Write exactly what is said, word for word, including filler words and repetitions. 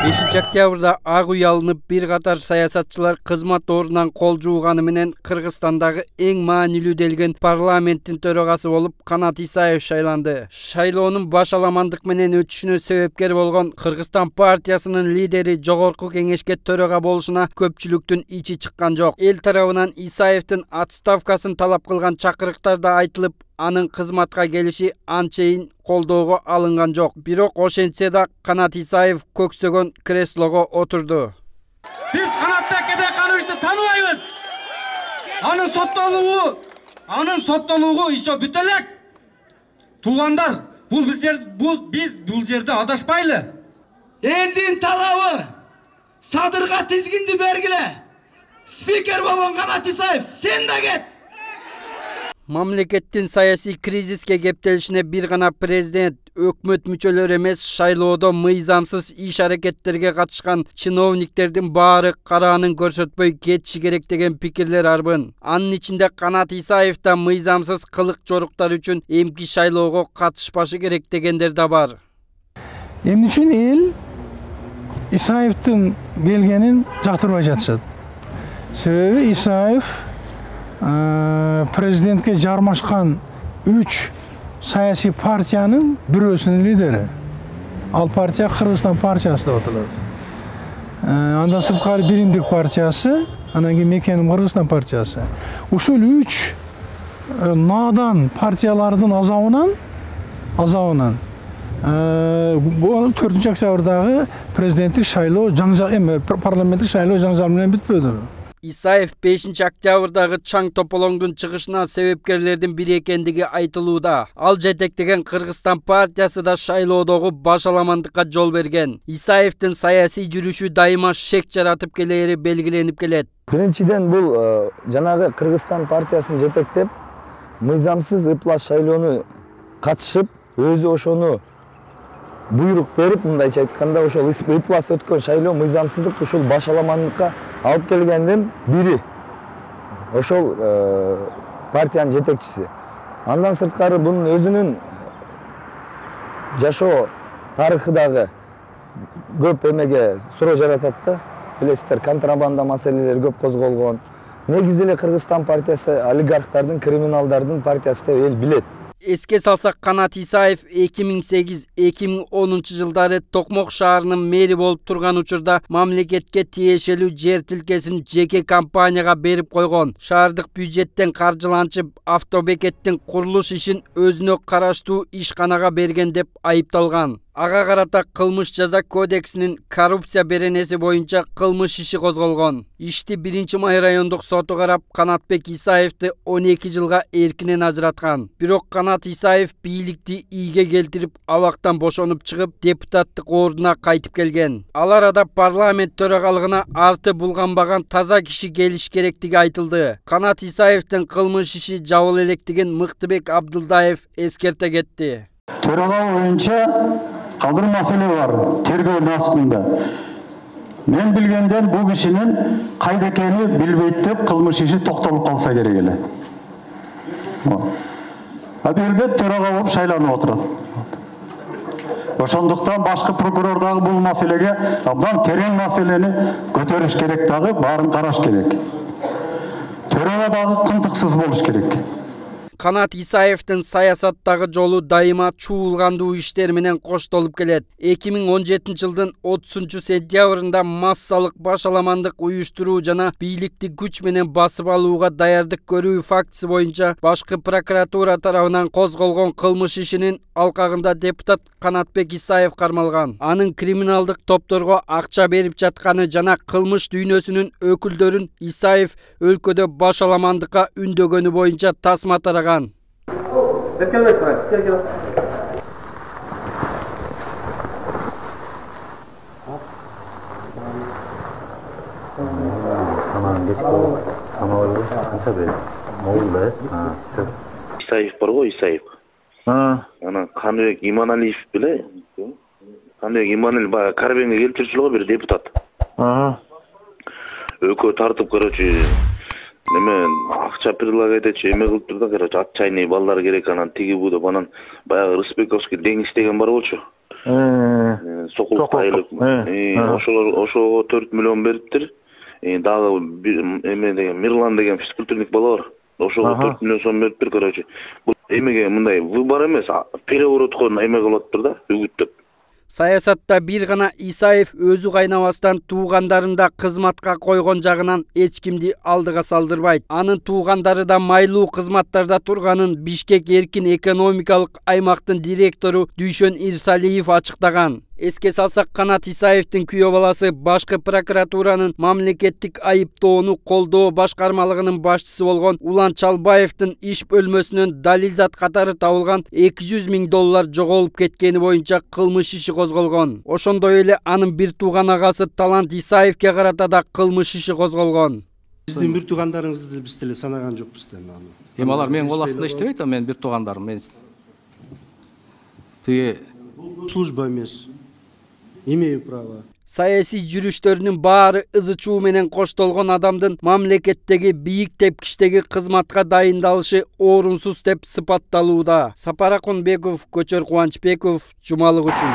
бешинчи октябрда ак үй алынып, бир катар саясатчылар кызмат ордунан кол жууганы менен Кыргызстандагы эң маанилүү делген парламенттин төрагасы болуп Канат Исаев шайланды. Шайлоонун башаламандык менен өтүшүнө себепкер болгон Кыргызстан партиясынын лидери жогорку кеңешке төрага болушуна көпчүлүктүн ичи чыккан жок. Эл тарабынан Исаевдин отставкасын талап кылган чакырыктар да айтылып, анын кызматка келиши анчейин колдоого алынган жок. Бирок ошентсе да Канат Исаев көксөгөн креслого отурду. Биз Канатбек Кедекановичти тааныбайбыз. Анын соттолугу, анын соттолугу ишо бүтө элек. Туугандар, бул биз бул биз бул жерде адашпайлы. Элдин талабы садырга тизгинди бергиле. Спикер болгон Канат Исаев, сен да кет. Мамлекеттин саясий кризиске кептелишине бир гана президент, өкмөт мүчөлөрү эмес, шайлоодо мыйзамсыз иш-аракеттерге катышкан чиновниктердин баары караанын көрсөтпөй кетиши керек деген пикирлер арбын. Анын ичинде Канат Исаев да мыйзамсыз кылык жоруктар үчүн эмки шайлоого катышпашы керек дегендер да бар. Эмне үчүн эл Исаевдин келгенин жактырбай жатышат? Себеби Исаев президентке жармашкан үч саясий партиянын бирөөсүнүн лидери. Ал партия Кыргызстан партиясы деп аталат. Андан сырткары Биримдик партиясы, анан кийин Мекеним Кыргызстан партиясы. Ушул үч наадан партиялардын азабынан, азабынан бул төртүнчү октябрдагы президенттик шайлоо жаңжал эме парламенттик шайлоо жаңжал менен бүтпөдү. Исаев бешинчи октябрдагы чаң тополоңдун чыгышына себепкерлердин бири экендиги айтылууда. Ал жетектеген Кыргызстан партиясы да шайлоодогу башаламандыкка жол берген. Исаевдин саясий жүрүшү дайыма шек жаратып келери белгиленип келет. Биринчиден бул жанагы Кыргызстан партиясын жетектеп, мыйзамсыз ыплас шайлоону катышып, өзү ошону буйрук берип, мындайча айтканда, ошол ыплас өткөн шайлоо мыйзамсыздык ушул башаламандыкка алып келгендин бири. Ошол партиянын жетекчиси. Андан сырткары бунун өзүнүн жашоо тарыхы дагы көп эмеге суроо жаратат да. Билесиздер, контрабанда маселелери көп козголгон. Негизи эле Кыргызстан партиясы олигархтардын, криминалдардын партиясы деп эл билет. Эске салсак, Канат Исаев эки миң сегиз — эки миң онунчу жылдары Токмок шаарынын мэри болуп турган учурда мамлекетке тиешелүү жер тилкесин жеке компанияга берип койгон. Шаардык бюджеттен каржыланчып, автобекеттин курулуш ишин өзүнө караштуу ишканага берген деп айыпталган. Ага карата кылмыш жаза кодексинин коррупция беренеси боюнча кылмыш иши козголгон. Ишти биринчи май райондук соту карап, Канатбек Исаевди он эки жылга эркинен ажыраткан. Бирок Канат Исаев бийликти ийге келтирип, абактан бошонуп чыгып, депутаттык ордуна кайтып келген. Ал арада парламент төрагалыгына арты булганбаган таза киши келиш керектиги айтылды. Канат Исаевдин кылмыш иши жабыла электигин Мыктыбек Абдылдаев эскерте кетти. Төрага боюнча калдыр маселе бар, тергөө астында. Мен билгенден бул кишинин кайда экени билбейт деп кылмыш иши токтолуп калса керек эле. А бул жерде төрага болуп шайланып отурат. Ошондуктан башкы прокурор дагы бул маселеге абдан терең маселени көтөрүш керек, дагы баарын караш керек. Төрага дагы кынтыксыз болуш керек. Канат Исаевдин саясаттагы жолу дайыма чуулгандуу иштер менен коштолуп келет. эки миң он жетинчи жылдын отузунчу сентябрында массалык башаламандык уюштуруу жана бийликти күч менен басып алууга даярдык көрүү фактысы боюнча башкы прокуратура тарабынан козголгон кылмыш ишинин алкагында депутат Канатбек Исаев кармалган. Анын криминалдык топторго акча берип жатканы жана кылмыш дүйнөсүнүн өкүлдөрүн Исаев өлкөдө башаламандыкка үндөгөнү боюнча тасма тараган. Исаев бар го, Исаев. Ана Каныбек Иманалиев беле? Каныбек Иманалиев баягы Карбенге келип жүрчү го, бир депутат. Өкө тартып, короче, неме акча предлагать этчи, эме кылып турду, короче, отчаянный балдар керек, анан тиги бу деп, анан баягы Рысбековский Деңиз деген бар болчу. Сокулук айлык. Ошолор ошого төрт миллион бериптир. Дагы эме деген Мирлан деген физкультурник бала бар. Ошого төрт миллион сом бериптир, короче. Бул эмеге мындай выбор эмес, переворотко эме кылыптыр да, үгүттөп. Саясатта бир гана Исаев өзү кайнабастан туугандарында кызматка койгон жагынан эч кимди алдыга салдырбайт. Анын туугандары да майлуу кызматтарда турганын Бишкек эркин экономикалык аймактын директору Дүйшөн Ирсалиев ачыктаган. Эске салсак, Канат Исаевдин күйөө баласы башкы прокуратуранын мамлекеттик айыптоону колдоо башкармалыгынын башчысы болгон Улан Чалбаевдин иш бөлмөсүнөн далилзат катары табылган эки жүз миң доллар жоголуп кеткени боюнча кылмыш иши козголгон. Ошондой эле анын бир тууган агасы Талант Исаевге карата да кылмыш иши козголгон. Биздин бир туугандарыңызды биз деле санаган жокпуз да аны. Эми алар менин кол астында иштебейт, менин бир туугандарым. Мен тиги служба эмес. Имею право. Саясий жүрүштөрүнүн баары ызы чуу менен коштолгон адамдын мамлекеттеги бийик тепкичтеги кызматка дайындалышы орунсуз деп сыпатталууда. Сапар Акунбеков, Көчөр Кубанычбеков, Жумалык үчүн.